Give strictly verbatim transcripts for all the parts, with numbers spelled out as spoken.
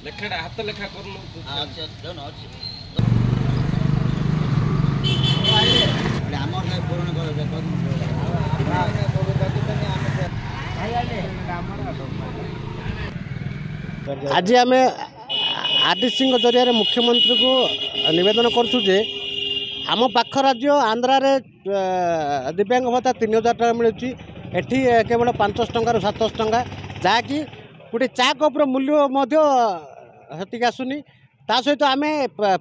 ଲେଖାଟା ହାତ ଲେଖା କରୁନୁ। ଅଛି, ଅଛି। ଆମର ପୂରଣ କର। ଆଜି ଆମେ ଆରଡିସିଙ୍କ ଜରିଆରେ ମୁଖ୍ୟମନ୍ତ୍ରୀଙ୍କୁ ନିବେଦନ କରୁଛୁ ଯେ ଆମ ପାଖ ରାଜ୍ୟ ଆନ୍ଧ୍ରାରେ ଦିବ୍ୟାଙ୍ଗ ଭତ୍ତା ତିନି ହଜାର ଟଙ୍କା ମିଳୁଛି, ଏଠି କେବଳ ପାଞ୍ଚଶହ ଟଙ୍କାରୁ ସାତଶହ ଟଙ୍କା, ଯାହାକି ଗୋଟେ ଚା କପ୍ର ମୂଲ୍ୟ ମଧ୍ୟ ସେତିକି ଆସୁନି। ତା ସହିତ ଆମେ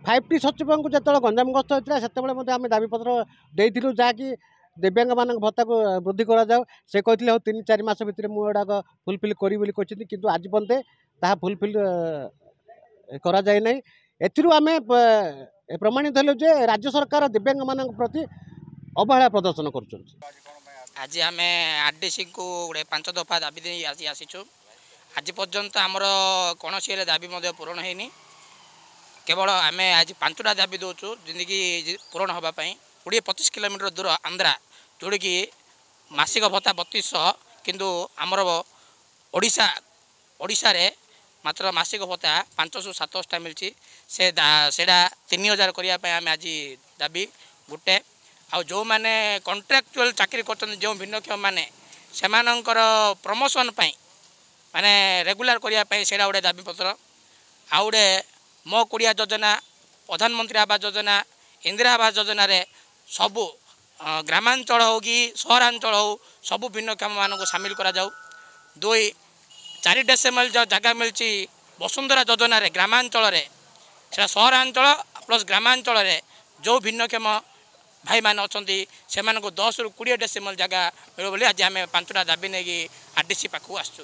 ଫାଇଭ୍ ଟି ସଚିବଙ୍କୁ ଯେତେବେଳେ ଗଞ୍ଜାମ ଗସ୍ତ ହୋଇଥିଲା, ସେତେବେଳେ ମଧ୍ୟ ଆମେ ଦାବିପତ୍ର ଦେଇଥିଲୁ, ଯାହାକି ଦିବ୍ୟାଙ୍ଗମାନଙ୍କ ଭତ୍ତାକୁ ବୃଦ୍ଧି କରାଯାଉ। ସେ କହିଥିଲେ, ହଉ ତିନି ଚାରି ମାସ ଭିତରେ ମୁଁ ଏଗୁଡ଼ାକ ଫୁଲଫିଲ୍ କରିବି ବୋଲି କହିଛନ୍ତି, କିନ୍ତୁ ଆଜି ପର୍ଯ୍ୟନ୍ତ ତାହା ଫୁଲଫିଲ୍ କରାଯାଇ ନାହିଁ। ଏଥିରୁ ଆମେ ପ୍ରମାଣିତ ହେଲୁ ଯେ ରାଜ୍ୟ ସରକାର ଦିବ୍ୟାଙ୍ଗମାନଙ୍କ ପ୍ରତି ଅବହେଳା ପ୍ରଦର୍ଶନ କରୁଛନ୍ତି। ଆଜି ଆମେ ଆର୍ ଡି ସିଙ୍କୁ ଗୋଟେ ପାଞ୍ଚ ଦଫା ଦାବି ଦେଇ ଆଜି ଆସିଛୁ। ଆଜି ପର୍ଯ୍ୟନ୍ତ ଆମର କୌଣସି ହେଲେ ଦାବି ମଧ୍ୟ ପୂରଣ ହେଇନି। କେବଳ ଆମେ ଆଜି ପାଞ୍ଚଟା ଦାବି ଦେଉଛୁ, ଯେମିତିକି ପୂରଣ ହେବା ପାଇଁ। କୋଡ଼ିଏ ପଚିଶ କିଲୋମିଟର ଦୂର ଆନ୍ଧ୍ରା, ଯେଉଁଠିକି ମାସିକ ଭତ୍ତା ବତିଶଶହ, କିନ୍ତୁ ଆମର ଓଡ଼ିଶା ଓଡ଼ିଶାରେ ମାତ୍ର ମାସିକ ଭତ୍ତା ପାଞ୍ଚଶହ ସାତଶହଟା ମିଳିଛି। ସେ ସେଇଟା ତିନି ହଜାର କରିବା ପାଇଁ ଆମେ ଆଜି ଦାବି ଗୋଟେ। ଆଉ ଯେଉଁମାନେ କଣ୍ଟ୍ରାକ୍ଚୁଆଲ୍ ଚାକିରି କରୁଛନ୍ତି, ଯେଉଁ ଭିନ୍ନକ୍ଷମମାନେ, ସେମାନଙ୍କର ପ୍ରମୋସନ୍ ପାଇଁ, ମାନେ ରେଗୁଲାର କରିବା ପାଇଁ ସେଇଟା ଗୋଟେ ଦାବିପତ୍ର। ଆଉ ଗୋଟେ ମୋ କୁଡ଼ିଆ ଯୋଜନା, ପ୍ରଧାନମନ୍ତ୍ରୀ ଆବାସ ଯୋଜନା, ଇନ୍ଦିରା ଆବାସ ଯୋଜନାରେ ସବୁ ଗ୍ରାମାଞ୍ଚଳ ହେଉ କି ସହରାଞ୍ଚଳ ହେଉ, ସବୁ ଭିନ୍ନକ୍ଷମମାନଙ୍କୁ ସାମିଲ କରାଯାଉ। ଦୁଇ, ଚାରି ଡେସିମଲ୍ ଯେଉଁ ଜାଗା ମିଳିଛି ବସୁନ୍ଧରା ଯୋଜନାରେ ଗ୍ରାମାଞ୍ଚଳରେ, ସେଇଟା ସହରାଞ୍ଚଳ ପ୍ଲସ୍ ଗ୍ରାମାଞ୍ଚଳରେ ଯେଉଁ ଭିନ୍ନକ୍ଷମ ଭାଇମାନେ ଅଛନ୍ତି, ସେମାନଙ୍କୁ ଦଶରୁ କୋଡ଼ିଏ ଡେସିମଲ୍ ଜାଗା ମିଳିବ ବୋଲି ଆଜି ଆମେ ପାଞ୍ଚଟା ଦାବି ନେଇକି ଆର୍ ଡି ସି ପାଖକୁ ଆସିଛୁ।